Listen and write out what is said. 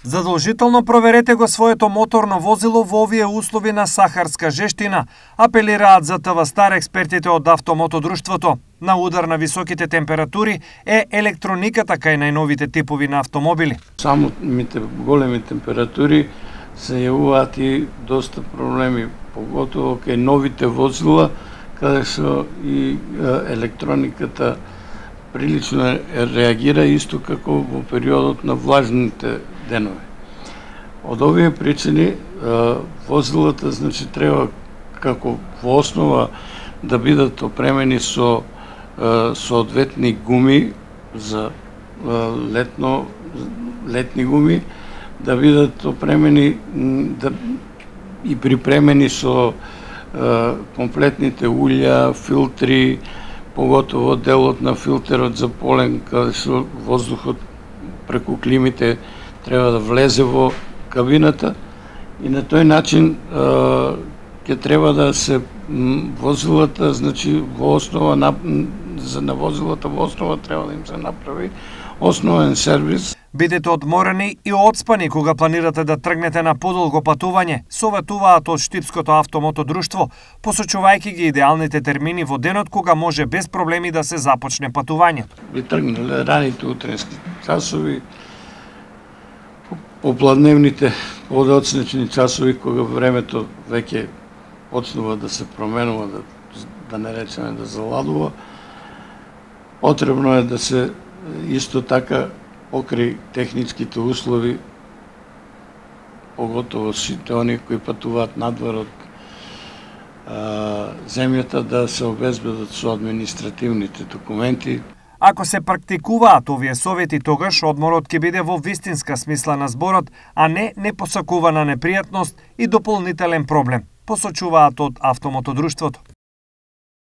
Задолжително проверете го своето моторно возило во овие услови на сахарска жештина, апелираат за ТВ Стар експертите од автомотодрштвото. На удар на високите температури е електрониката кај најновите типови на автомобили. Самите големи температури се јавуваат и доста проблеми, поготово кај новите возила, каде со и електрониката прилично реагира исто како во периодот на влажните денови. Од овие причини возилата треба како во основа да бидат опремени со соодветни гуми за летни гуми, да бидат опремени и припремени со комплетните улја, филтри, поготово делот на филтерот за полен, каде со воздухот преку климите треба да влезе во кабината и на тој начин ќе треба да се возилата, во основа на возилата во основа треба да им се направи основен сервис. Бидете одморени и одспани кога планирате да тргнете на подолго патување, советуваат од Штипското автомотодрштво, посочувајќи ги идеалните термини во денот кога може без проблеми да се започне патувањето. Би тргнале раните утренски часови, попладневните подоцнечни часови кога времето веќе почнува да се променува, да не речеме да заладува. Потребно е да се исто така покрај техничките услови, поготово сите оние кои патуваат надвор од земјата, да се обезбедат со административните документи. Ако се практикуваат овие совети, тогаш одморот ќе биде во вистинска смисла на зборот, а не непосакувана непријатност и дополнителен проблем, посочуваат од автомотодрштвото.